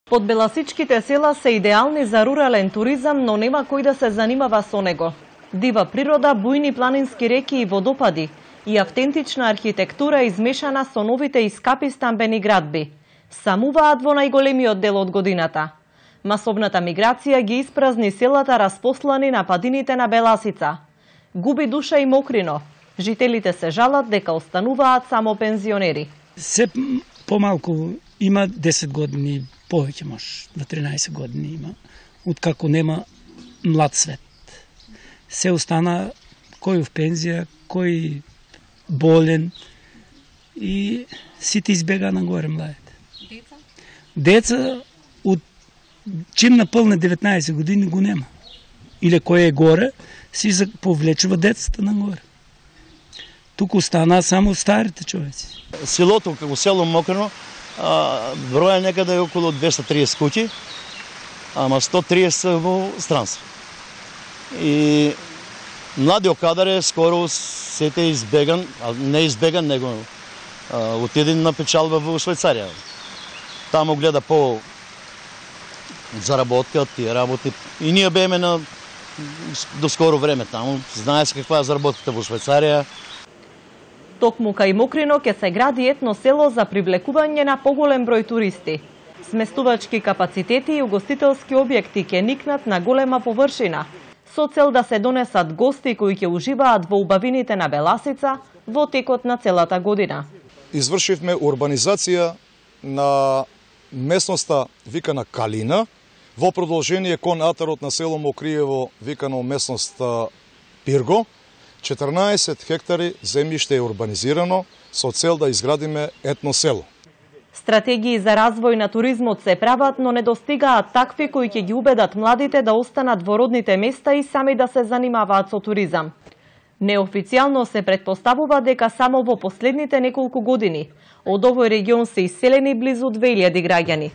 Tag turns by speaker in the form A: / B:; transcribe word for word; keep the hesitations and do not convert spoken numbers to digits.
A: Подбеласичките села се идеални за рурален туризам, но нема кој да се занимава со него. Дива природа, бујни планински реки и водопади и автентична архитектура измешана со новите и скапи стамбени градби самуваат во најголемиот дел од годината. Масовната миграција ги испразни селата распослани на падините на Беласица. Губи душа и Мокрино. Жителите се жалат дека остануваат само пензионери.
B: Се помалку има десет години, повеќе може, до тринаесет години има, откако нема млад свет. Се остана кој в пензија, кој болен и сите избега нагоре младите.
A: Деца?
B: Деца од чим наполне деветнаесет години го нема. Или кој е горе, си повлечува децата нагоре. Туку остана само старите човеци.
C: Селото, како село Мокрино, броја некаде е околу двесте и триесет куќи, ама сто и триесет во странство. И младиот кадар е скоро сете избеган, а не избеган, него отиде на печалба во Швајцарија. Таму гледа по заработка, тие работи. И ние беме на до скоро време таму. Знае се каква е заработката во Швајцарија.
A: Токму кај Мокрино ќе се гради етно село за привлекување на поголем број туристи. Сместувачки капацитети и угостителски објекти ќе никнат на голема површина, со цел да се донесат гости кои ќе уживаат во убавините на Беласица во текот на целата година.
D: Извршивме урбанизација на местноста викана Калина, во продолжение кон атарот на село Мокриево викано местноста Пирго. четрнаесет хектари земјиште е урбанизирано со цел да изградиме етно село.
A: Стратегии за развој на туризмот се прават, но не достигаат такви кои ќе ги убедат младите да останат во родните места и сами да се занимаваат со туризам. Неофицијално се претпоставува дека само во последните неколку години од овој регион се иселени близу две илјади граѓани.